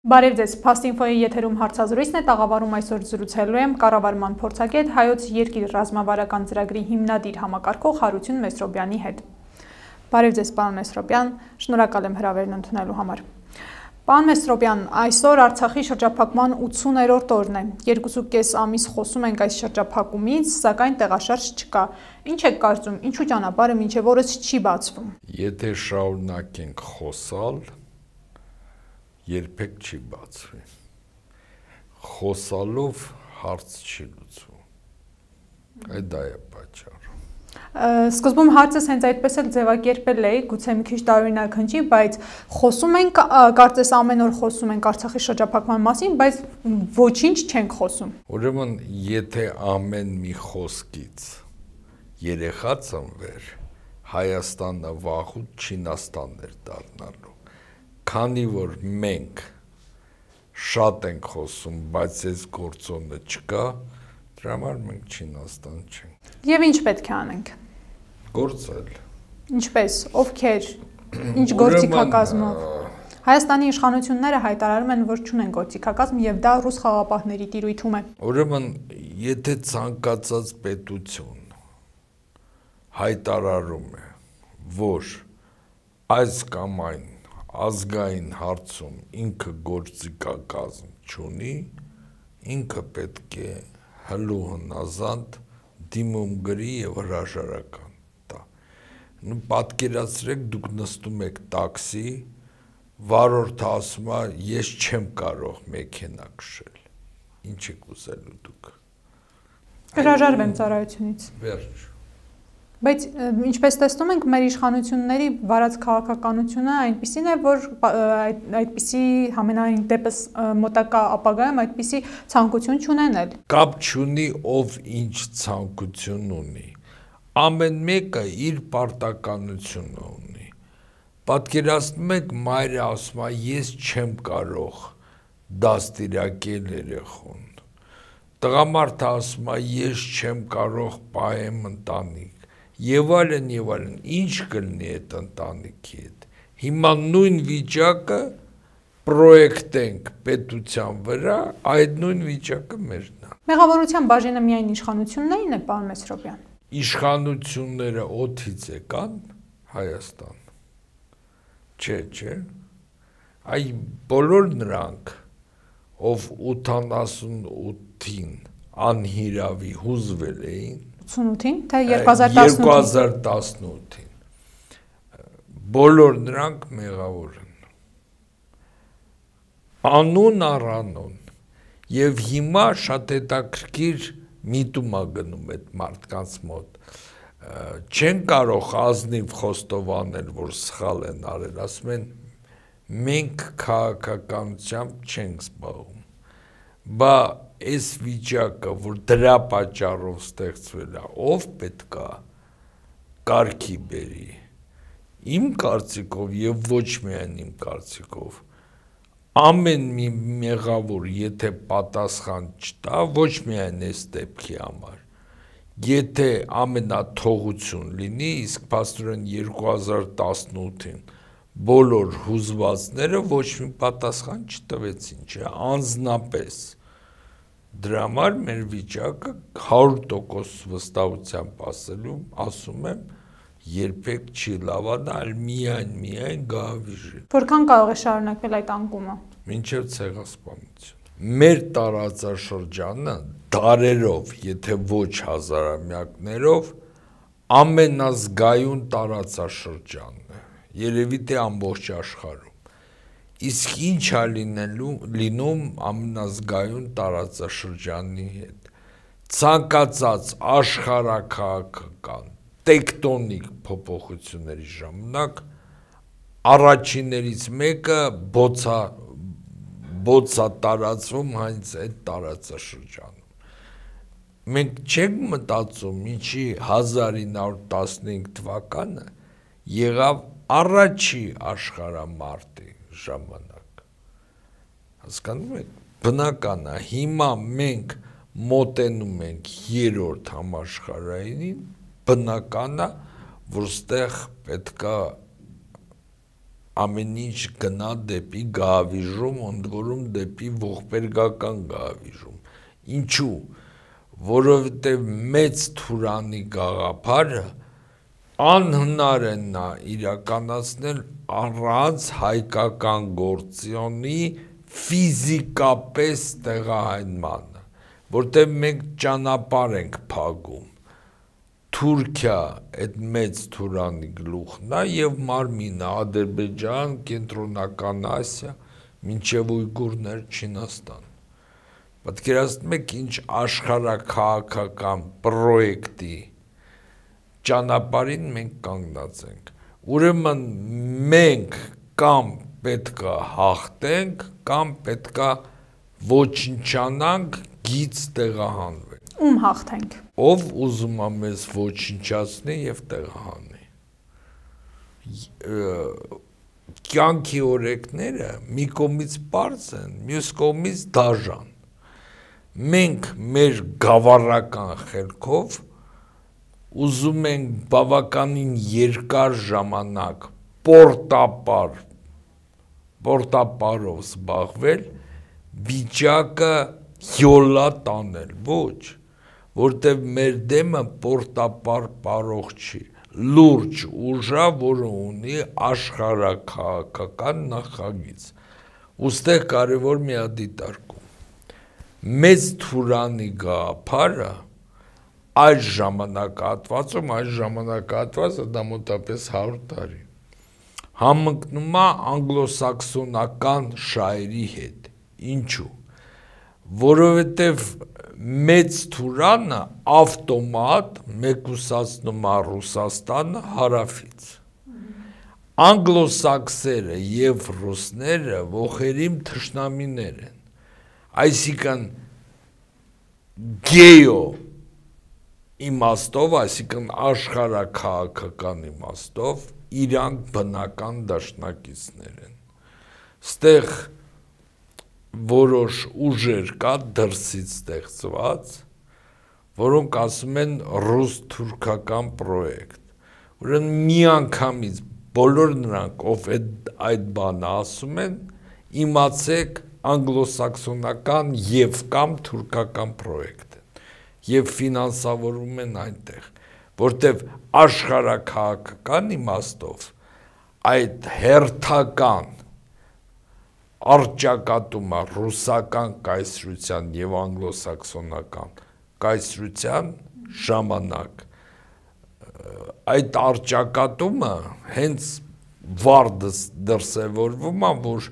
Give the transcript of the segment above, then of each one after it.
Բարև ձեզ, Փաստինֆոյի եթերում հարցազրույցն է, տաղավարում այսօր զրուցելու եմ կառավարման փորձագետ Հայոց երկիր ռազմավարական ծրագրի հիմնադիր համակարգող Հարություն Մեսրոբյանի հետ։ Բարև ձեզ, պարոն Մեսրոբյան, շնորհակալ եմ հրավերն ընդունելու համար։ Պարոն Մեսրոբյան, այսօր Արցախի շրջափակման 80-րդ օրն է։ 2.5 ամիս խոսում ենք այս շրջափակումից, սակայն տեղաշարժ չկա։ Ինչ եք կարծում, ինչու ճանապարհը մինչև օրս չի բացվում։ Եթե շարունակենք խոսալ, երբեք չի բացվի։ Խոսալով հարց չի լուծվում։ Այդ դա է պատճառը։ Սկզբում հարցս հենց այդպես էլ ձևակերպել էի, գուցե մի քիչ տարօրինակ հնչի, բայց խոսում ենք, կարծես ամեն օր խոսում ենք Արցախի շրջափակման մասին, բայց ոչինչ չենք խոսում։ Ուրեմն, եթե ամեն մի խոսքից երեխա ծնվեր, Հայաստանը վաղուց Չինաստան էր դառնալու։ Քանի որ մենք շատ ենք խոսում, բայց այս գործոնը չկա, դրա համար մենք Չինաստան չենք։ Եվ ինչ պետք է անենք։ Գործել։ Ինչպես, ովքեր, ինչ գործիքակազմով։ Հայաստանի իշխանությունները հայտարարում են, որ չունեն գործիքակազմ եւ դա ռուս խաղաղապահների տիրույթում է։ Ուրեմն, եթե ցանկացած պետություն հայտարարում է, որ այս կամ այն ազգային հարցում ինքը գործիքակազմ չունի, ինքը պետք է հլու հնազանդ դիմում գրի եւ հրաժարական տա։ Պատկերացրեք, դուք նստում եք տաքսի, վարորդը ասում է, ես չեմ կարող մեքենա քշել։ Ինչ եք ուզելու դուք։ Հրաժարվեմ ծառայությունից։ Վերջ։ Բայց ինչպես տեսնում ենք, մեր իշխանությունների վարած քաղաքականությունը այնպիսին է, որ այդպիսի համենայն դեպս մոտակա ապագայում այդպիսի ցանկություն չունենել։ Կապ չունի ով ինչ ցանկություն ունի։ Ամեն մեկը իր պարտականությունը ունի։ Պատկերացնում եք, մայրը ասում է, ես չեմ կարող դաստիարակել երեխուն։ Տղամարդը ասում է, ես չեմ կարող պահեմ ընտանիք։ Եվ այլն, ինչ կլինի այդ ընտանիքի հետ։ Հիմա նույն վիճակը պրոյեկտենք պետության վրա, այդ նույն վիճակը մերն է։ Մեղավորության բաժինը միայն իշխանություններին է, պարոն Մեսրոբյան։ Իշխանությունները օդից եկան Հայաստան։ Չէ։ Այ բոլոր նրանք, ով 88-ին անհիրավի հուզվել էին, 88-ին, թե 2018-ին։ 2018-ին։ Բոլոր նրանք մեղավոր են։ Անուն առանուն։ Եվ հիմա շատ հետաքրքիր միտում է գնում այդ մարդկանց մոտ։ Չեն կարող ազնիվ խոստովանել, որ սխալ են արել, ասում են, մենք քաղաքականությամբ չենք զբաղվում։ Բա այս վիճակը, որ դրա պատճառով ստեղծվել է, ով պետք է կարգի բերի։ Իմ կարծիքով եւ ոչ միայն իմ կարծիքով, ամեն մի մեղավոր, եթե պատասխան չտա, ոչ միայն այս դեպքի համար, եթե ամենաթողություն լինի, իսկ փաստորեն 2018-ին բոլոր հուզվածները ոչ մի պատասխան չտվեցին, չէ, անձնապես։ Դրա համար մեր վիճակը 100% վստահությամբ ասում եմ, երբեք չի լավանա, այլ միայն գահավիժի։ Որքան կարող է շարունակվել այդ անկումը։ Մինչև ցեղասպանություն։ Մեր տարածաշրջանը դարերով, եթե ոչ հազարամյակներով, ամենազգայուն տարածաշրջանն է, երևի թե ամբողջ աշխարհում։ Իսկ ինչ է լինում ամենազգայուն տարածաշրջանի հետ։ Ցանկացած աշխարհաքաղաքական տեկտոնիկ փոփոխությունների ժամանակ առաջիններից մեկը բոցա տարածվում հենց այդ տարածաշրջանում։ Մենք չենք մտածում, ինչի 1915 թվականը եղավ առաջի աշխարհամարտի ժամանակ։ Հասկանում եք, բնական է, հիմա մենք մոտենում ենք 3-րդ համաշխարհայինին, բնական է, որ ստեղ պետքա ամեն ինչ գնա դեպի գահավիժում, ընդ որում դեպի ողբերգական գահավիժում։ Ինչու՞։ Որովհետև մեծ Թուրանի գաղափարը անհնար է նա իրականացնել առանց հայկական գործոնի ֆիզիկապես տեղահանմանը, որտեղ մենք ճանապարհ ենք փակում։ Թուրքիա այդ մեծ Թուրանի գլուխն է եւ մարմինը Ադրբեջան, Կենտրոնական Ասիա, մինչեւ Ույգուրներ, Չինաստան։ Պատկերացնում եք ինչ աշխարհաքաղաքական պրոյեկտի ճանապարհին մենք կանգնած ենք։ Ուրեմն մենք կամ պետքա հաղթենք, կամ պետքա ոչնչանանք, գից տեղահանվենք։ Ում հաղթենք։ Ով ուզում է մեզ ոչնչացնի եւ տեղահանի։ Կյանքի օրենքները մի կողմից պարզ են, մյուս կողմից դաժան։ Մենք մեր գավառական խելքով ուզում ենք բավականին երկար ժամանակ պորտապարով զբաղվել, վիճակը յոլա տանել, ոչ, որտեղ մեր դեմը պորտապար պարող չի, լուրջ ուժա, որը ունի աշխարհաքաղաքական նախագիծ։ Ուստեղ կարևոր մի դիտարկում։ Մեծ Թուրանի գաղափարը այս ժամանակահատվածը դա մոտապես 100 տարի, համընկնում է անգլոսաքսոնական շահերի հետ։ Ինչու՞։ Որովհետև մեծ Թուրանը ավտոմատ մեկուսացնում է Ռուսաստանը հարավից։ Անգլոսաքսերը եւ ռուսները ողերիմ թշնամիներ են։ Այսինքն գեո իմաստով, այսինքն աշխարհաքաղաքական իմաստով իրանք բնական դաշնակիցներ են։ Ստեղ որոշ ուժեր կա դրսից ստեղծված, որոնք ասում են ռուս-թուրքական պրոյեկտ։ Ուրեմն միանգամից բոլոր նրանք, ով այդ բանը ասում են, իմացեք անգլոսաքսոնական եւ կամ թուրքական պրոյեկտ են եւ ֆինանսավորում են այնտեղ, որտեւ աշխարհաքաղաքական իմաստով այդ հերթական արճակատումը ռուսական կայսրության եւ անգլոսաքսոնական կայսրության ժամանակ այդ արճակատումը հենց վառ դրսևորվում է, որ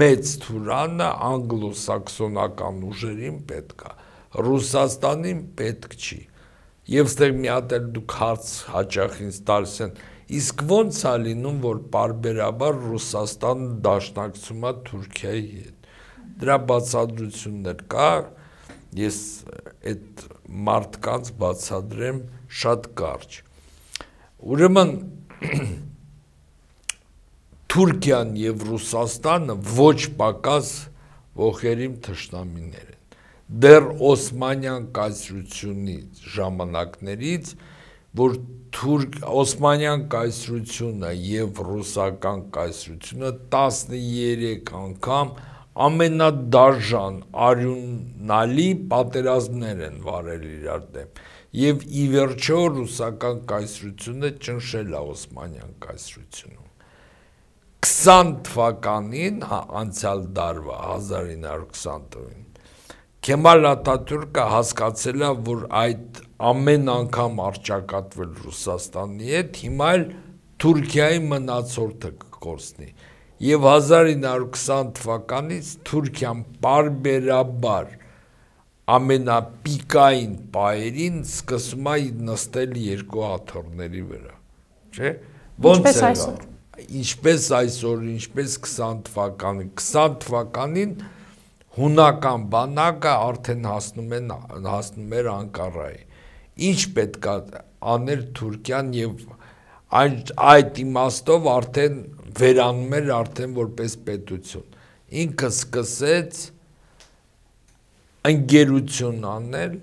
մեծ Թուրանը անգլոսաքսոնական ուժերին պետք է, Ռուսաստանին պետք չի։ Եվ ստեղ մի հատ էլ դուք հարց հաճախ ինձ տալիս են, իսկ ո՞նց է լինում, որ պարբերաբար Ռուսաստանը դաշնակցում է Թուրքիայի հետ։ Դրա բացատրություններ կա, ես այդ մարդկանց բացատրեմ շատ կարճ։ Ուրեմն Թուրքիան եւ Ռուսաստանը ոչ պակաս ողերիմ թշնամիներ են։ Դեռ Օսմանյան կայսրությունի ժամանակներից, որ Օսմանյան կայսրությունը եւ ռուսական կայսրությունը 13 անգամ ամենադաժան արյունալի պատերազմներ են վարել իրար դեմ։ Եվ ի վերջո ռուսական կայսրությունը ճնշել է Օսմանյան կայսրությունում։ 20 թվականին, անցյալ դարվա 1920 թվականին, Քեմալ Աթաթուրքը հասկացել է, որ այդ ամեն անգամ արճակատվել Ռուսաստանի հետ, հիմա էլ Թուրքիայի մնացորդը կկորցնի։ Եվ 1920 թվականից Թուրքիան պարբերաբար ամենապիկային պահերին սկսում է նստել երկու աթոռների վրա, չէ՞։ Ոնց է։ Ինչպես այսօր, ինչպես 20 թվականին, 20 թվականին հունական բանակը արդեն հասնում էր Անկարայի։ Ինչ պետք է աներ Թուրքիան եւ այդ իմաստով արդեն վերանում էր արդեն որպես պետություն։ Ինքը սկսեց ընկերություն անել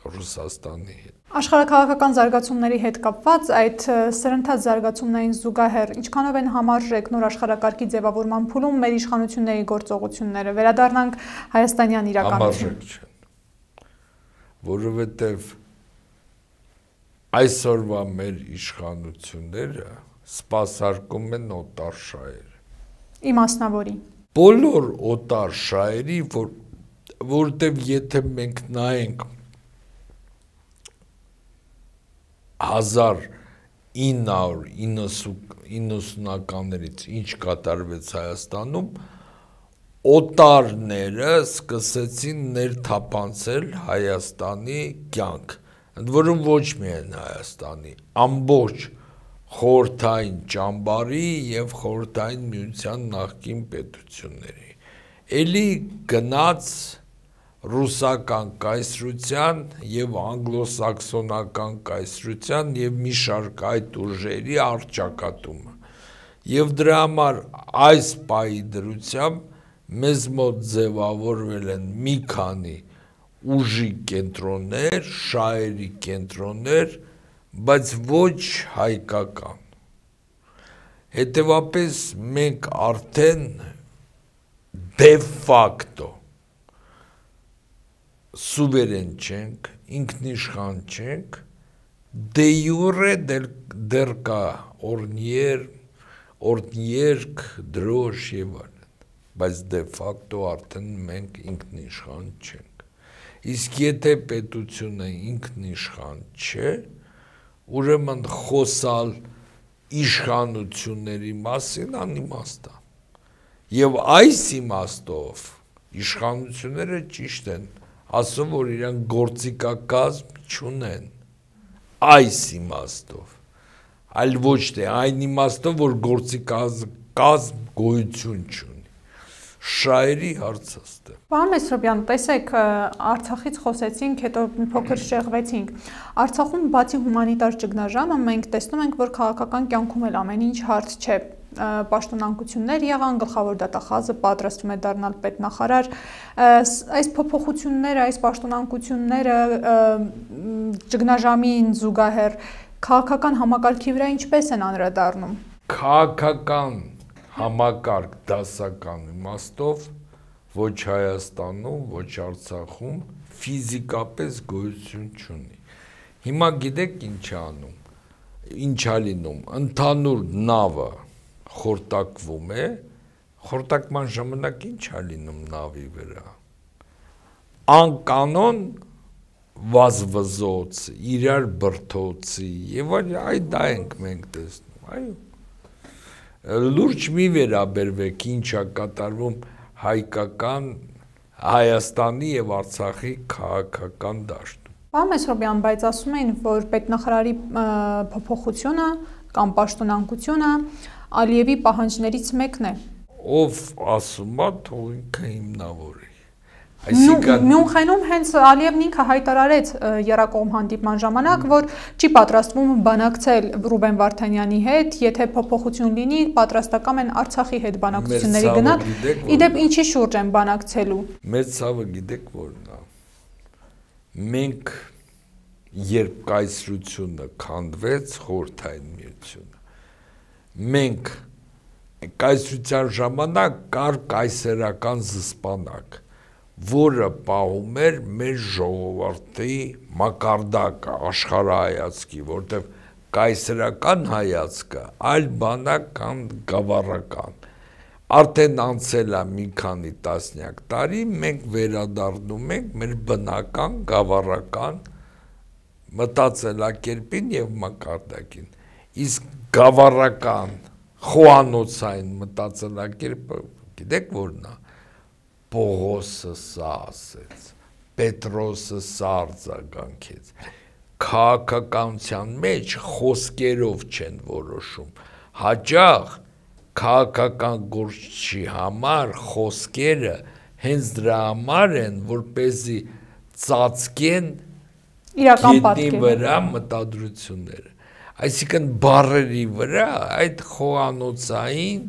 Ռուսաստանի հետ։ Աշխարհաքաղաքական զարգացումների հետ կապված այդ սրընթաց զարգացումներին զուգահեռ ինչքանով են համարժեք նոր աշխարհակարգի ձևավորման փուլում մեր իշխանությունների գործողությունները։ Վերադառնանք հայաստանյան իրականություն։ Համարժեք չեն, որովհետև այսօրվա մեր իշխանությունները սպասարկում են օտար շահեր։ Իմասնավորի։ Բոլոր օտար շահերի, որտեղ եթե մենք նայենք 1990-ականներից ինչ կատարվեց Հայաստանում, օտարները սկսեցին ներթափանցել Հայաստանի կյանք, ընդ որում ոչ միայն Հայաստանի, ամբողջ խորհրդային ճամբարի եւ խորհրդային միության նախկին պետությունների։ Էլի գնաց ռուսական կայսրության եւ անգլոսաքսոնական կայսրության եւ մի շարք այդ ուժերի առճակատումը։ Եվ դրա համար այս պահի դրությամբ մեզ մոտ ձևավորվել են մի քանի ուժի կենտրոններ, շահերի կենտրոններ, բայց ոչ հայկական։ Հետևաբար մենք արդեն դե ֆակտո սուվերեն չենք, ինքնիշխան չենք, դե յուրե դեռ կա օրնიერք, դրոշ եւ այլն, բայց դե ֆակտո արդեն մենք ինքնիշխան չենք։ Իսկ եթե պետությունը ինքնիշխան չէ, ուրեմն խոսալ իշխանությունների մասին անիմաստ է։ Եվ այս իմաստով իշխանությունները ճիշտ են ասում, որ իրենք գործիքակազմ չունեն, այս իմաստով, այլ ոչ թե այն իմաստով, որ գործիքակազմ գոյություն չունի, շահերի հարցաստ է։ Պարոն Մեսրոպյան, տեսեք, Արցախից խոսեցինք, հետո մի փոքր շեղվեցինք։ Արցախում բացի հումանիտար ճգնաժամը մենք տեսնում ենք, որ քաղաքական կյանքում էլ ամեն ինչ հարթ չէ։ Պաշտոնանկություններ եղան, գլխավոր դատախազը պատրաստվում է դառնալ պետնախարար։ Այս փոփոխությունները, այս պաշտոնանկությունները ճգնաժամին զուգահեռ քաղաքական համակարգի վրա ինչպես են անդրադառնում։ Քաղաքական համակարգ դասական իմաստով ոչ Հայաստանում, ոչ Արցախում ֆիզիկապես գոյություն չունի։ Հիմա գիտեք ինչ է անում, ինչ է լինում, ընդհանուր նավը խորտակվում է, խորտակման ժամանակ ինչ է լինում նավի վրա։ Անկանոն վազվզոց, իրար բրդոցի եւ այդ դա ենք մենք տեսնում, այո։ Լուրջ մի վերաբերվեք ինչ է կատարվում հայկական Հայաստանի եւ Արցախի քաղաքական դաշտում։ Պարոն Մեսրոպյան, բայց ասում էին, որ պետնախարարի փոփոխությունը կամ պաշտոնանկությունը Ալիևի պահանջներից մեկն է։ Ով ասում է, թող ինքը հիմնավորի։ Մյունխենում հենց Ալիևն ինքը հայտարարեց եռակողմ հանդիպման ժամանակ, որ չի պատրաստվում բանակցել Ռուբեն Վարդանյանի հետ, եթե փոփոխություն լինի, պատրաստական են Արցախի հետ բանակցությունների գնալ։ Իդեպ ինչի շուրջ են բանակցելու։ Մեր ցավը գիտեք որն է։ Մենք երբ կայսրությունը քանդվեց խորհրդային միությունը, մենք կայսրության ժամանակ կար կայսերական զսպանակ, որը պահում էր մեր ժողովրդի մակարդակը, աշխարհայացքի, որտեղ կայսերական հայացքը այլ բան է, քան գավառական։ Արդեն անցել է մի քանի տասնյակ տարի, մենք վերադառնում ենք մեր բնական գավառական մտածելակերպին եւ մակարդակին։ Իսկ գավառական խոհանոցային մտածելակերպը գիտեք որն է։ Պողոսը սա ասեց, Պետրոսը սա արձագանքեց։ Քաղաքականության մեջ խոսքերով չեն որոշում, հաճախ քաղաքական գործչի համար խոսքերը հենց դրա համար են, որպեսզի ծածկեն գետնի վրա մտադրությունները։ Այսինքն բառերի վրա այդ խոհանոցային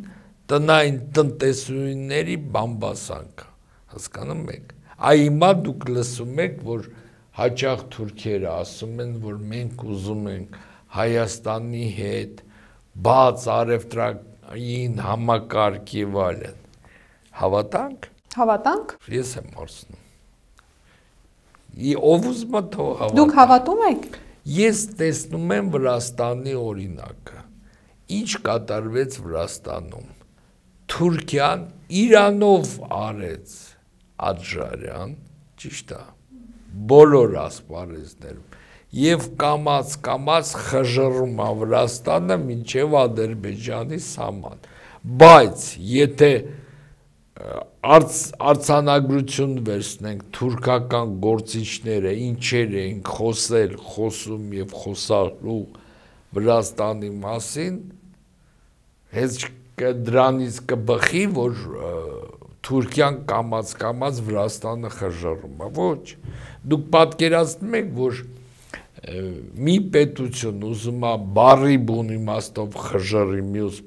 տնային տնտեսուհիների բամբասանքը, հասկանում եք։ Այ հիմա դուք լսում եք, որ հաճախ թուրքերը ասում են, որ մենք ուզում ենք Հայաստանի հետ բաց առևտրային համակարգ եւ այլն։ Հավատանք։ Հավատանք։ Ես եմ հարցնում։ Ով ուզում է թող հավատա։ Դուք հավատում եք։ Ես տեսնում եմ Վրաստանի օրինակը։ Ինչ կատարվեց Վրաստանում։ Թուրքիան Իրանով արեց Աջարյան, ճիշտ է։ Բոլոր ասպարեզներում եւ կամած խժռում է Վրաստանը մինչեւ Ադրբեջանի սահման։ Բայց եթե արձանագրություն վերցնենք թուրքական գործիչները ինչեր էին խոսում եւ խոսալու Վրաստանի մասին, հենց դրանից կբխի, որ Թուրքիան կամած Վրաստանը խժռում է։ Ոչ, դուք պատկերացնում եք, որ մի պետություն ուզում է բարի բուն իմաստով խժռի մյուս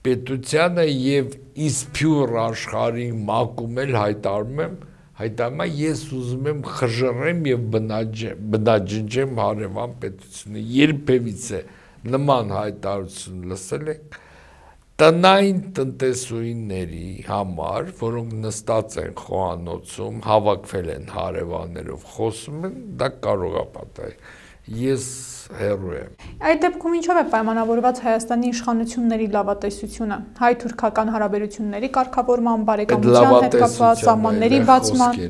պետությանը եւ իսփյուր աշխարհի մակում էլ հայտարարում է ես ուզում եմ խժռեմ եւ բնաջնջեմ հարևան պետությունը։ Երբևիցե նման հայտարարություն լսել եք տնային տնտեսուհիների համար, որոնք նստած են խոհանոցում, հավաքվել են հարևաններով, խոսում են, դա կարող է պատահել։ Ես հեռու եմ։ Այդ դեպքում ինչով է պայմանավորված Հայաստանի իշխանությունների լավատեսությունը, հայ-թուրքական հարաբերությունների կարգավորման, բարեկամության հետ կապված սահմանների բացման,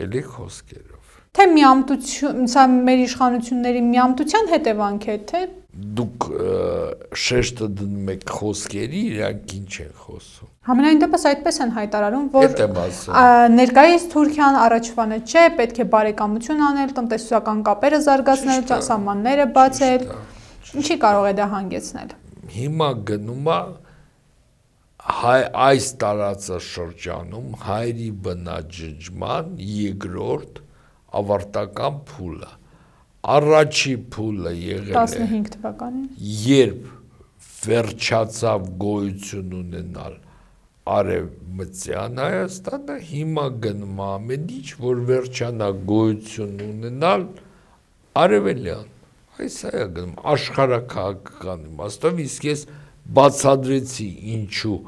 էլի խոսքերով։ Թե միամտություն, սա մեր իշխանությունների միամտության հետևանք է, թե դուք շեշտը դնում եք խոսքերի, իրանք ինչ են խոսում։ Համենայն դեպս այդպես են հայտարարում, որ ներկայիս Թուրքիան առաջվանը չէ, պետք է բարեկամություն անել, տնտեսական կապերը զարգացնել, սահմանները բացել, ինչի կարող է դա հանգեցնել։ Հիմա գնում է այս տարածաշրջանում հայերի բնաջնջման երկրորդ ավարտական փուլը։ Առաջի փուլը եղել է 15 թվականին, երբ վերջացավ գոյություն ունենալ Արևմտյան Հայաստանը, հիմա գնում ամեն ինչ, որ վերջանա գոյություն ունենալ Արևելյան։ Այս է գնում աշխարհաքաղաքական իմաստով, իսկ ես բացադրեցի ինչու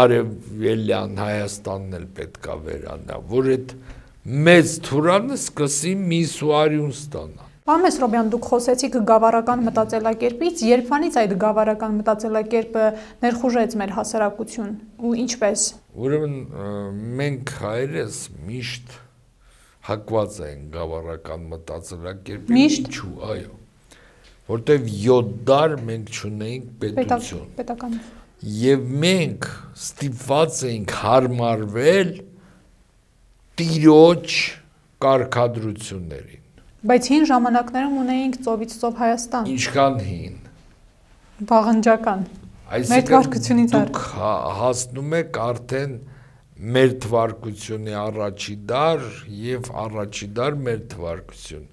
Արևելյան Հայաստանն էլ պետքա վերանա, որ այդ մեծ թուրանը սկսի միսուարիուն ստանա։ Պարոն Մեսրոբյան, դուք խոսեցիք գավառական մտածելակերպից, երբանից այդ գավառական մտածելակերպը ներխուժեց մեր հասարակություն ու ինչպես։ Ուրեմն մենք հայերս միշտ հակված են գավառական մտածելակերպին, ինչու, այո, որտեվ 7 դար մենք չունեինք պետություն։ Պետական։ Եվ մենք ստիպված էինք հարմարվել տիրոջ կարգադրություններին։ Բայց հին ժամանակներում ունեինք ծովից ծով Հայաստան։ Ինչքան հին։ Վաղնջական։ Մեր թվարկությունից դուք հասնում եք արդեն մեր թվարկությունի առաջի դար եւ առաջի դար մեր թվարկություն։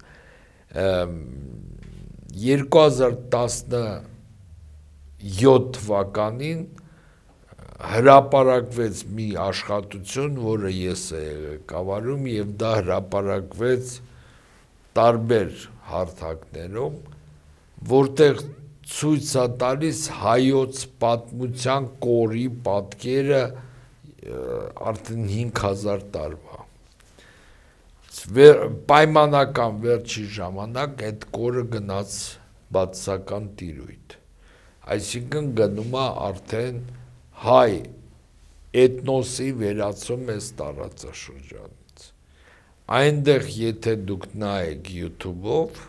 2017 թվականին հրապարակվեց մի աշխատություն, որը ես ղեկավարում եւ դա հրապարակվեց տարբեր հարթակներում, որտեղ ցույց է տալիս հայոց պատմության կորի պատկերը արդեն 5000 տարվա։ Պայմանական վերջի ժամանակ այդ կորը գնաց բացասական տիրույթ։ Այսինքն գնում է արդեն հայ էթնոսի վերացում այս տարածաշրջանից։ Այնտեղ եթե դուք նայեք YouTube-ով,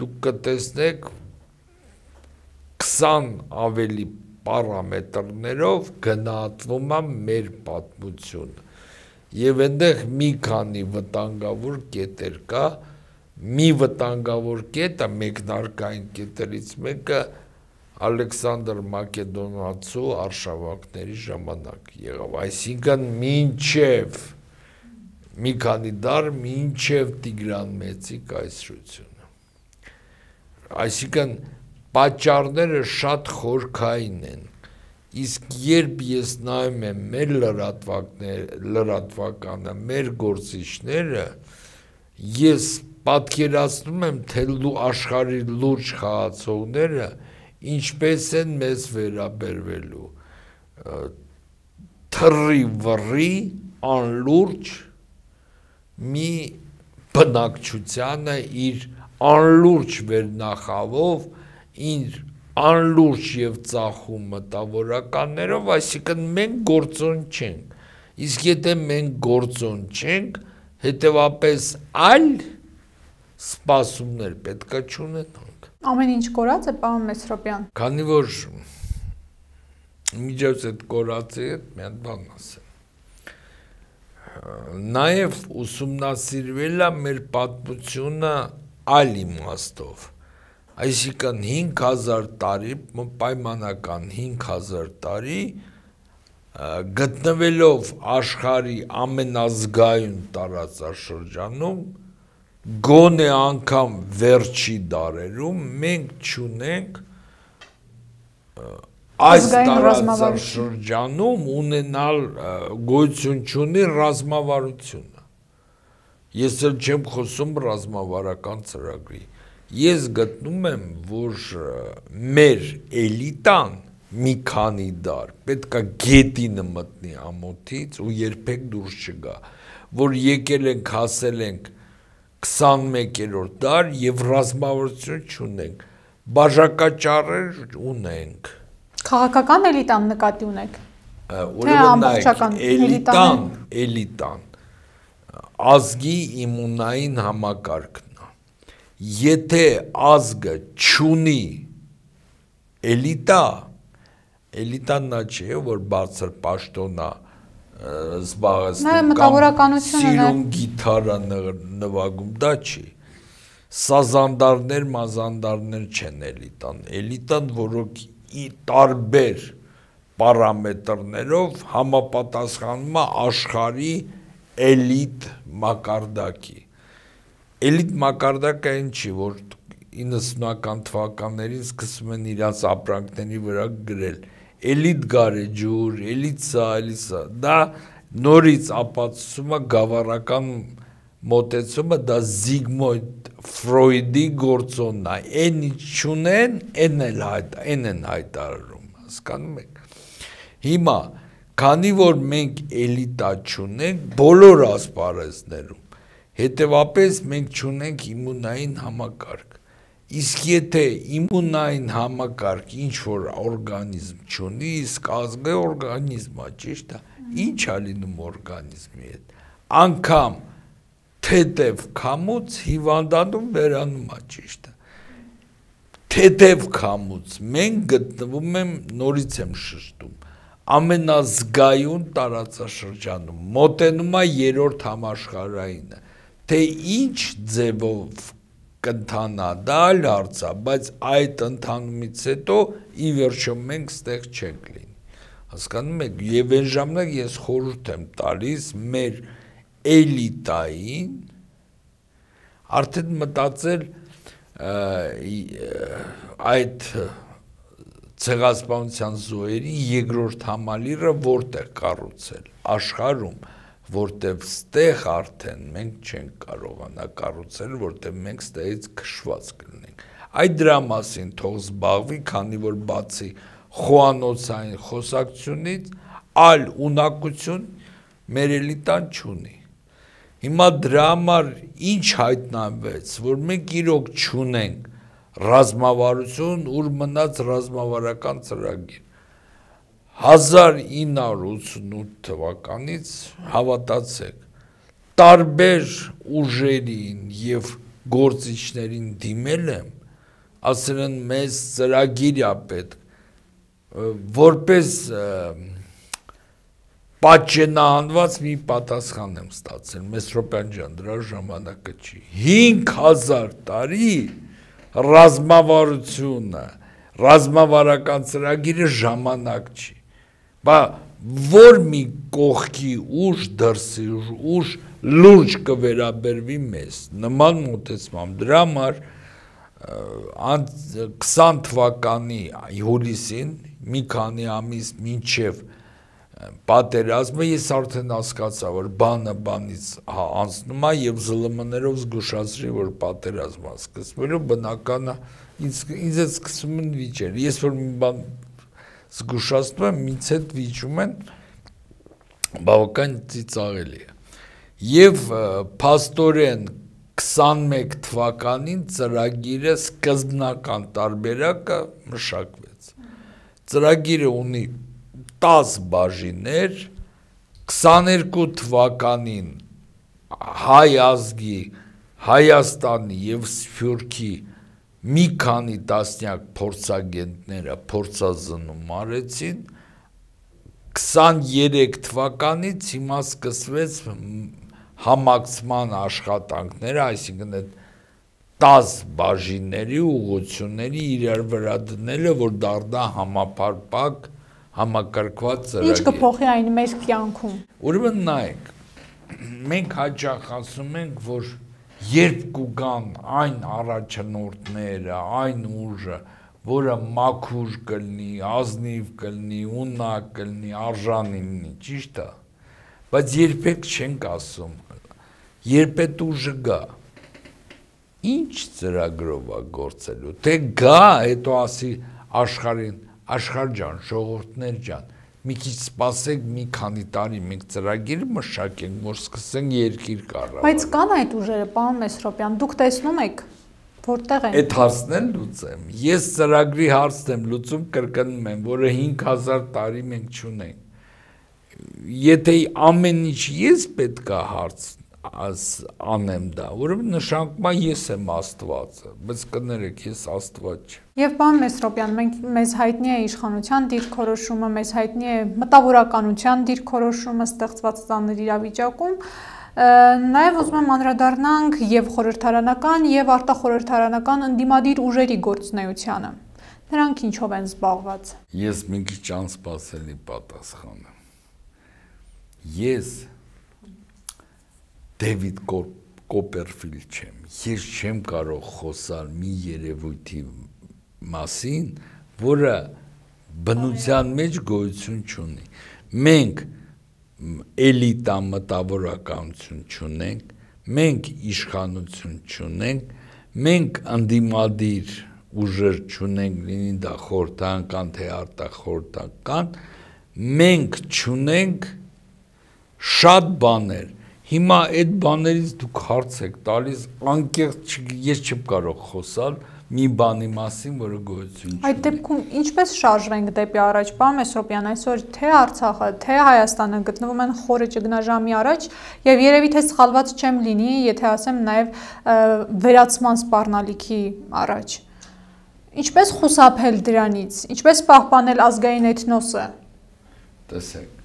դուք կտեսնեք 20 ավելի պարամետրներով գնահատվում է մեր պատմությունը։ Եվ այնտեղ մի քանի վտանգավոր կետեր կա, մի վտանգավոր կետը մեկնարկային կետերից մեկը Ալեքսանդր Մակեդոնացու արշավանքների ժամանակ եղավ, այսինքն մինչև մի քանի դար մինչև Տիգրան Մեծի կայսրությունը։ Այսինքն պատճառները շատ խորքային են, իսկ երբ ես նայում եմ մեր լրատվականը, մեր գործիչները, ես պատկերացնում եմ, թե աշխարհի լուրջ խաղացողները ինչպես են մեզ վերաբերվելու թռի վռի անլուրջ մի բնակչությանը իր անլուրջ վերնախավով, իր անլուրջ եւ ծախում մտավորականներով, այսինքն մենք գործոն չենք, իսկ եթե մենք գործոն չենք, հետևապես այլ սպասումներ պետքա չունենանք։ Ամեն ինչ կորած է, պարոն Մեսրոպյան։ Քանի որ միջոց այդ կորածի հետ մի հատ բան ասեմ։ Նաև ուսումնասիրվել է մեր պատմությունը այլ իմաստով, այսինքն 5000 տարի, պայմանական 5000 տարի գտնվելով աշխարհի ամենազգայուն տարածաշրջանում, գոնե անգամ վերջի դարերում մենք չունենք այս տարածաշրջանում ունենալ գոյություն չունի ռազմավարությունը։ Ես էլ չեմ խոսում ռազմավարական ծրագրի։ Ես գտնում եմ, որ մեր էլիտան մի քանի դար պետքա գետինը մտնի ամոթից ու երբեք դուրս չգա, որ եկել ենք, հասել ենք 21-րդ դար եւ ռազմավարություն չունենք, բաժակաճառեր ունենք։ Քաղաքական էլիտան նկատի ունեք։ Ուրեմն էլիտան ազգի իմունային համակարգն է։ Եթե ազգը չունի էլիտան նա չէ, որ բարձր պաշտոնա զբաղեցնում կամ սիրուն գիթարա նվագում, դա չի։ Սազանդարներ, մազանդարներ չեն էլիտան, որոնք տարբեր պարամետրներով համապատասխանում է աշխարհի էլիտ մակարդակի։ Էլիտ մակարդակը այն չի, որ 90-ական թվականներին սկսում են իրաց ապրանքների վրա գրել էլիտ գարեջուր, էլիտ սա, դա նորից ապացուցում է գավառական մոտեցումը, դա Զիգմունդ Ֆրոյդի գործոնն է, այն ինչ չունեն, այն են հայտարարում, հասկանում եք։ Հիմա, քանի որ մենք էլիտա չունենք բոլոր ասպարեզներում, հետևապես մենք չունենք իմունային համակարգ։ Իսկ եթե իմունային համակարգ ինչ-որ օրգանիզմ չունի, իսկ ազգը օրգանիզմ է, ճիշտ է, ինչ է լինում օրգանիզմի հետ։ Անգամ թեթև քամուց հիվանդանում վերանում է, ճիշտ է։ Թեթև քամուց մենք գտնվում եմ, նորից եմ շշտում, ամենազգայուն տարածաշրջանում, մոտենում է 3-րդ համաշխարհայինը, թե ինչ ձևով կընթանա, դա այլ հարց է, բայց այդ ընթանումից հետո ի վերջո մենք ստեղ չենք լինի։ Հասկանում եք, եւ այն ժամանակ ես խորհուրդ եմ տալիս մեր էլիտային արդեն մտածել այդ ցեղասպանության զոհերի երկրորդ համալիրը որտեղ կառուցել աշխարհում, որտեղ ստեղ արդեն մենք չենք կարողանա կառուցել, որտեղ մենք ստեղից քշված կլինենք։ Այդ դրա մասին թող զբաղվի, քանի որ բացի խոհանոցային խոսակցությունից այլ ունակություն մեր էլիտան չունի։ Հիմա դրա համար ինչ հայտնաբերեց, որ մենք իրոք չունենք ռազմավարություն, ուր մնաց ռազմավարական ծրագիր։ 1988 թվականից հավատացեք, տարբեր ուժերին եւ գործիչներին դիմել եմ, ասել են մեզ ծրագիր է պետք, որպես պատճենահանված մի պատասխան եմ ստացել, Մեսրոպյան ջան, դրա ժամանակը չի։ 5000 տարի ռազմավարությունը, ռազմավարական ծրագիրը ժամանակ չի։ Բա որ մի կողքի ուժ դրսի ուժ լուրջ կվերաբերվի մեզ, նման մոտեցմամբ, դրա համար 20 թվականի հուլիսին, մի քանի ամիս մինչև պատերազմը ես արդեն հասկացա, որ բանը բանից անցնում է եւ ԶԼՄ-ներով զգուշացրի, որ պատերազմ է սկսվելու, բնական է, ինձ է սկսում են վիճել, ես որ մի բան զգուշացնում եմ, ինձ հետ վիճում են, բավական ծիծաղելի է։ Եվ փաստորեն 21 թվականին ծրագիրը սկզբնական տարբերակը մշակվեց։ Ծրագիրը ունի 10 բաժիններ, 22 թվականին հայ ազգի, Հայաստանի եւ Սփյուռքի մի քանի տասնյակ փորձագետները փորձազննում արեցին, 23 թվականից հիմա սկսվեց համակցման աշխատանքները, այսինքն այդ 10 բաժինների ուղղությունների իրար վրա դնելը, որ դառնա համապարփակ համակարգված ծրագիր։ Ինչ կփոխի այն մեր կյանքում։ Ուրեմն նայեք, մենք հաճախ ասում ենք, որ երբ կուգան այն առաջնորդները, այն ուժը, որը մաքուր կլինի, ազնիվ կլինի, ունակ կլինի, արժանի լինի, ճիշտ է, բայց երբեք չենք ասում, երբ այդ ուժը գա, ինչ ծրագրով է գործելու, թե գա, հետո ասի աշխարհին, աշխարհ ջան, ժողովուրդներ ջան, մի քիչ սպասեք, մի քանի տարի մենք ծրագիր մշակենք, որ սկսենք երկիր կառավարել։ Բայց կան այդ ուժերը, պարոն Մեսրոպյան, դուք տեսնում եք, որտեղ են։ Այդ հարցն էլ լուծեմ։ Ես ծրագրի հարցն եմ լուծում, կրկնում եմ, որը 5000 տարի մենք չունենք։ Եթե ամեն ինչ ես պետք է հարց անեմ դա, ուրեմն նշանակում է ես եմ Աստվածը, բայց կներեք, ես Աստված չեմ։ Եվ պարոն Մեսրոպյան, մեզ հայտնի է իշխանության դիրքորոշումը, մեզ հայտնի է մտավորականության դիրքորոշումը ստեղծված ծանր իրավիճակում, նաև ուզում եմ անդրադառնանք եւ խորհրդարանական եւ արտախորհրդարանական ընդդիմադիր ուժերի գործունեությանը։ Նրանք ինչով են զբաղված։ Ես մի քիչ անսպասելի պատասխան եմ։ Ես Դեվիդ Կոպերֆիլդ չեմ, ես չեմ կարող խոսալ մի երևույթի մասին, որը բնության մեջ գոյություն չունի։ Մենք էլիտա մտավորականություն չունենք, մենք իշխանություն չունենք, մենք ընդդիմադիր ուժեր չունենք, լինի դա խորհրդարանական թե արտախորհրդական, մենք չունենք շատ բաներ։ Հիմա այդ բաներից դուք հարց եք տալիս, անկեղծ ես չեմ կարող խոսալ մի բանի մասին, որը գոյություն չունի։ Այդ դեպքում ինչպես շարժվենք դեպի առաջ, պարոն Մեսրոպյան, այսօր թե Արցախը, թե Հայաստանը գտնվում են խորը ճգնաժամի առաջ, եւ երևի թե սխալված չեմ լինի, եթե ասեմ նաեւ վերացման սպառնալիքի առաջ։ Ինչպես խուսափել դրանից, ինչպես պահպանել ազգային էթնոսը։ Տեսեք։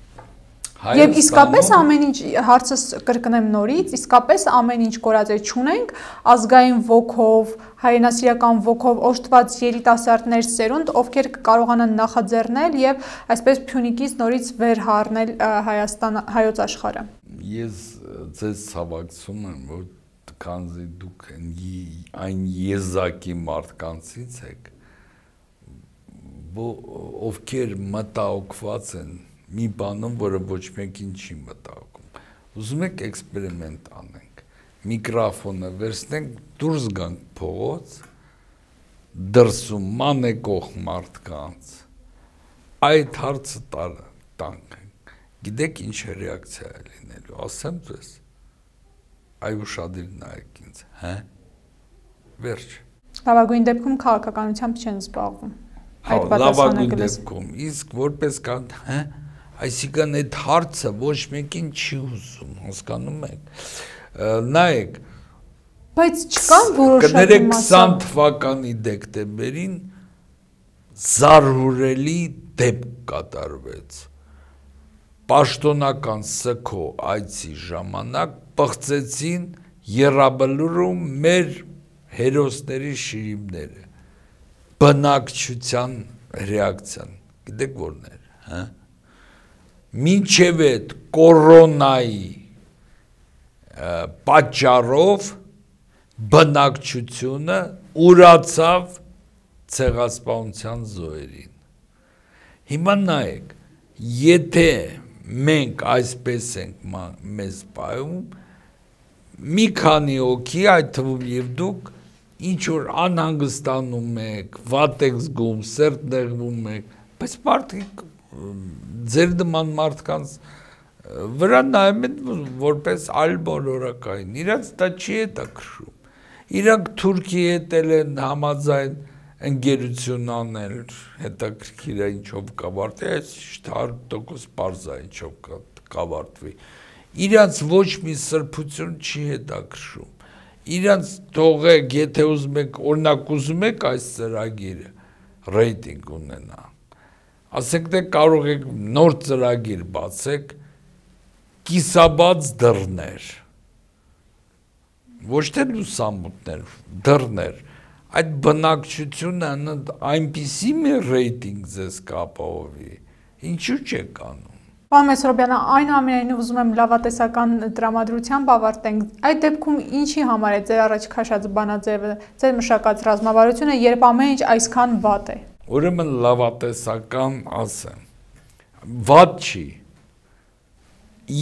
Եվ իսկապես ամեն ինչ, հարցս կրկնեմ նորից, իսկապես ամեն ինչ կորած է, չունենք ազգային ոգով, հայրենասիրական ոգով օժտված երիտասարդներ սերունդ, ովքեր կարողանան նախաձեռնել եւ այսպես Փյունիկից նորից վեր հառնել հայոց աշխարհը։ Ես ձեզ ցավակցում եմ, որ քանզի դուք այն եզակի մարդկանցից եք, ովքեր մտահոգված են մի բանում, որը ոչ մեկին չի մտահոգում։ Ուզում եք էքսպերիմենտ անենք, միկրոֆոնը վերցնենք, դուրս գանք փողոց, դրսում մանեկող մարդկանց, այդ հարցը տանք, գիտեք ինչ ռեակցիա է լինելու, ասեմ ձեզ, այ ուշադիր նայեք ինձ, հա, վերջ։ Լավագույն դեպքում քաղաքականությամբ չեն զբաղվում։ Լավագույն դեպքում, իսկ որպես կան, հա, այսինքն այդ հարցը ոչ մեկին չի ուզում, հասկանում եք։ Նայեք, բայց չկան որոշակի մասը։ 20 թվականի դեկտեմբերին զարհուրելի դեպք կատարվեց։ Պաշտոնական սգո այցի ժամանակ պղծեցին Եռաբլուրում մեր հերոսների շիրիմները։ Բնակչության ռեակցիան, գիտեք որն էր, հա։ Մինչև այդ կորոնայի պատճառով բնակչությունը ուրացավ ցեղասպանության զոհերին։ Հիմա նայեք, եթե մենք այսպես ենք մեզ պայում, մի քանի օքի, այդ թվում եւ դուք, ինչ որ անհանգստանում եք, վատ եք զգում, սերտ նեղվում եք, բայց մարդիկ ձեր նման մարդկանց վրա նայում են որպես այլ բոլորակային, իրանց դա չի հետաքրքրում, իրանք Թուրքիի հետ են համաձայն ընկերություն անել, հետաքրքիր է ինչով կավարտվի, այս 100% պարզ է ինչով կավարտվի, իրանց ոչ մի սրբություն չի հետաքրքրում, իրանց թողեք, եթե ուզում եք, օրինակ ուզում եք այս ծրագիրը ռեյտինգ ունենա, ասենք թե կարող եք նոր ծրագիր բացեք, կիսաբաց դռներ, ոչ թե լուսամուտներ, դռներ, այդ բնակչությունը այնպիսի մի ռեյտինգ ձեզ կապահովի, ինչու չեք անում։ Պարոն Մեսրոբյանը, այնուամենայնիվ ուզում եմ լավատեսական տրամադրությամբ ավարտենք, այդ դեպքում ինչի համար է ձեր առաջ քաշած բանաձևը, ձեր մշակած ռազմավարությունը, երբ ամեն ինչ այսքան վատ է։ Ուրեմն լավատեսական ասեմ, վատ չի,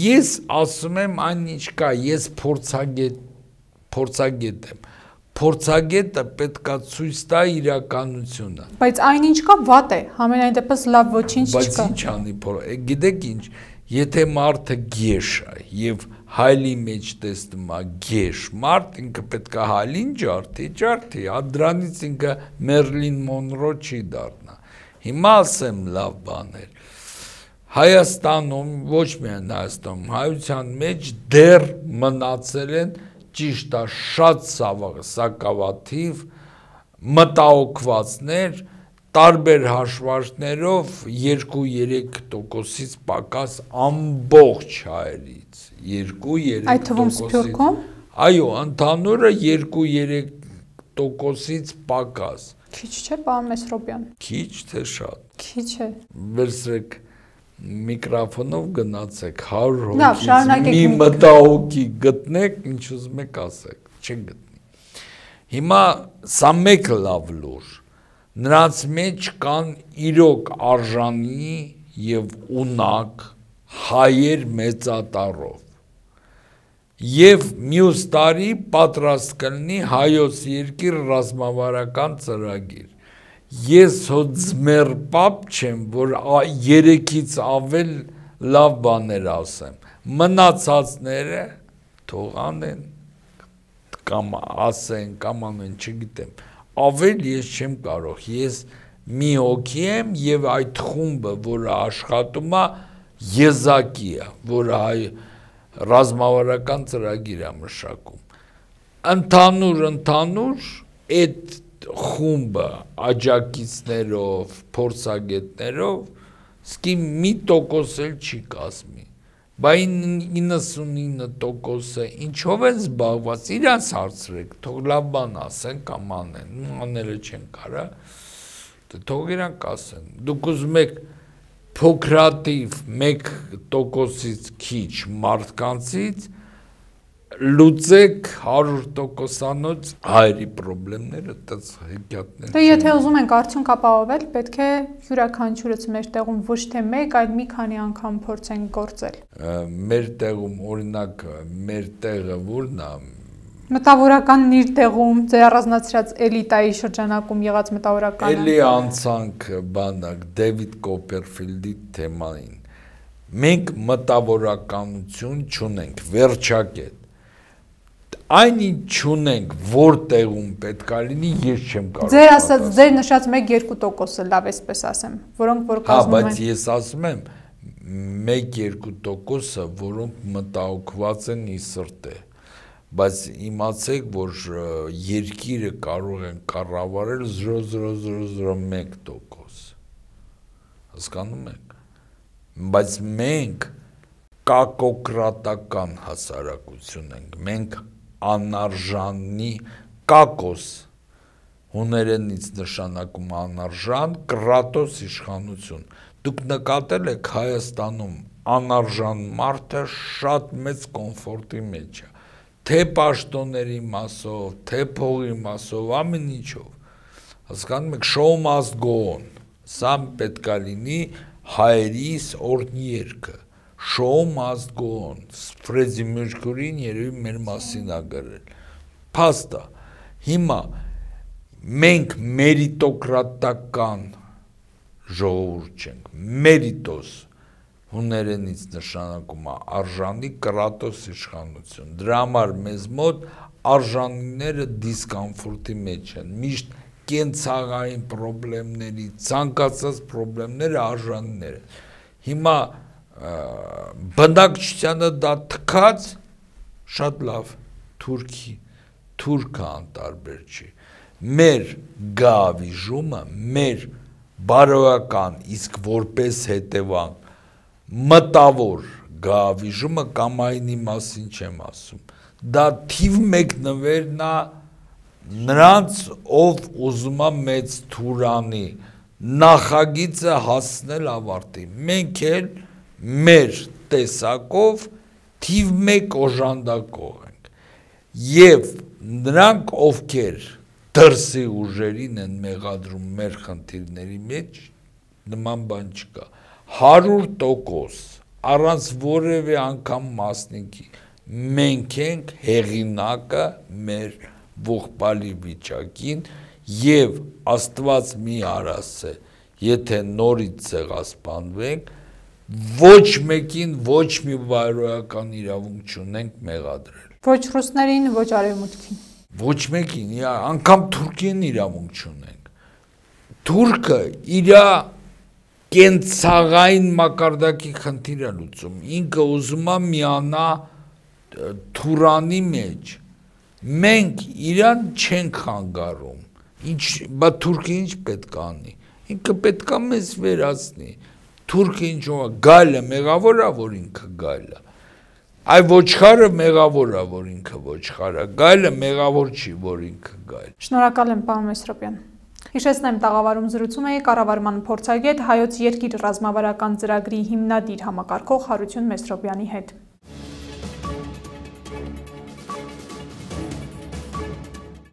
ես ասում եմ այն ինչ կա, ես փորձագետ եմ, փորձագետը պետքա ցույց տա իրականությունը։ Բայց այն ինչ կա վատ է, համենայն դեպս լավ ոչինչ չկա։ Բայց ինչ անի, գիտեք ինչ, եթե մարդը գեշ է եւ հայլի մեջ տեսնում է գեշ մարդ, ինքը պետքա հայլին ջարդի, դրանից ինքը Մերլին Մոնրո չի դառնա։ Հիմա ասեմ լավ բաներ։ Հայաստանում, ոչ միայն Հայաստանում, հայության մեջ դեռ մնացել են ճիշտ է շատ սակավաթիվ մտահոգվածներ տարբեր հաշվարկներով 2-3%-ից պակաս ամբողջ հայերից 2-3%։ Այդ թվում Սփյուռքում։ Այո, ընդհանուրը 2-3%-ից պակաս։ Քիչ չէ, պարոն Մեսրոբյան։ Քիչ թե շատ։ Քիչ է։ Վերցրեք միկրոֆոնով գնացեք 100 հոգից մի մտահոգի գտնեք, ինչ ուզում եք ասեք, չեն գտնի։ Հիմա սա մեկը լավ լուր, նրանց մեջ կան իրոք արժանի եւ ունակ հայեր մեծատառով եւ մյուս տարի պատրաստ կլինի հայոց երկիր ռազմավարական ծրագիր։ Ես հոձմեր պապ չեմ, որ 3-ից ավել լավ բաներ ասեմ, մնացածները թող անեն, կամ ասեն, կամ անեն, չգիտեմ, ավել ես չեմ կարող, ես մի հոգի եմ և այդ խումբը, որը աշխատում է, եզակի է, որը ռազմավարական ծրագիր է մշակում, ընդհանուր, այդ խումբը աջակիցներով, փորձագետներով, սկի մի տոկոս էլ չի կազմի, բայց 99%-ը ինչով են զբաղված, իրանց հարցրեք, թող լավ բան ասեն կամ անեն, աները չեն կարա, թող իրանք ասեն, դուք ուզում եք փոքրաթիվ 1%-ից քիչ մարդկանցից լուծեք 100%-անոց հայերի պրոբլեմները, տած հեքիաթներ։ Դե եթե ուզում ենք արդյունք ապահովել, պետք է յուրաքանչյուրս մեր տեղում ոչ թե մեկ, այլ մի քանի անգամ փորձենք գործել։ Մեր տեղում, օրինակ, մեր տեղը որն է։ Մտավորականն իր տեղում, ձեր առանձնացրած էլիտայի շրջանակում եղած մտավորականը։ Էլի անցանք բանակ Դեվիդ Կոպերֆիլդի թեմային։ Մենք մտավորականություն չունենք, վերջակետ։ Այն ինչ չունենք, որտեղում պետք է լինի, ես չեմ կարող։ Ձեր ասած, ձեր նշած 1-2%-ը լավ էսպես ասեմ, որոնք որ կազմում են։ Բայց ես ասում եմ 1-2%-ը, որոնք մտահոգված են ի սրտե։ Բայց իմացեք, որ երկիրը կարող են կառավարել 0.00001%։ Հասկանում եք։ Բայց մենք կակոկրատական հասարակություն ենք, մենք անարժանի կակոս, հուներենից նշանակում անարժան, կրատոս իշխանություն։ Դուք նկատել եք Հայաստանում անարժան մարդը շատ մեծ կոմֆորտի մեջ է, թե պաշտոնների մասով, թե փողի մասով, ամեն ինչով։ Հասկանում եք, show must go on, սա պետք է լինի հայերիս օրհնի երգը, Show must go on։ Ֆրեդի Մերկուրին երևի մեր մասին է գրել։ Փաստա։ Հիմա մենք մերիտոկրատական ժողովուրդ չենք։ Մերիտոս հուներենից նշանակում է արժանի, կրատոս իշխանություն։ Դրա համար մեզ մոտ արժանիները դիսկոմֆորտի մեջ են։ Միշտ կենցաղային խնդիրների, ցանկացած խնդիրները արժանիներ են։ Հիմա բնակչությանը դա թքած շատ լավ թուրքը անտարբեր չի։ Մեր գավիժումը, մեր բարոյական, իսկ որպես հետևանք մտավոր գավիժումը կամ այնի մասին չեմ ասում։ Դա թիվ 1 նվերն է նրանց, ով ուզում է մեծ թուրանի նախագիծը հասնել ավարտի։ Մենք էլ մեր տեսակով թիվ 1 օժանդակող ենք։ Եվ նրանք, ովքեր դրսի ուժերին են մեղադրում մեր խնդիրների մեջ, նման բան չկա։ 100% առանց որևէ անգամ մասնիկի մենք ենք հեղինակը մեր ողբալի վիճակին եւ Աստված մի արասե, եթե նորից ցեղասպանվենք, ոչ մեկին ոչ մի բարոյական իրավունք չունենք մեղադրել։ Ոչ ռուսներին, ոչ արևմուտքին։ Ոչ մեկին, անգամ Թուրքիան իրավունք չունենք։ Թուրքը իր կենցաղային մակարդակի խնդիր է լուծում։ Ինքը ուզում է միանա Թուրանի մեջ։ Մենք իրան չենք խանգարում։ Բա Թուրքը ինչ պետք է անի։ Ինքը պետք է մեզ վերացնի։ Թուրքը ինչ է, գայլը մեղավոր է, որ ինքը գայլ է։ Այ ոչխարը մեղավոր է, որ ինքը ոչխար է։ Գայլը մեղավոր չի, որ ինքը գայլ։ Շնորհակալ եմ, պարոն Մեսրոպյան։ Հիշեցնեմ, տաղավարում զրուցում էի կառավարման փորձագետ, Հայոց երկիր ռազմավարական ծրագրի հիմնադիր համակարգող Հարություն Մեսրոպյանի հետ։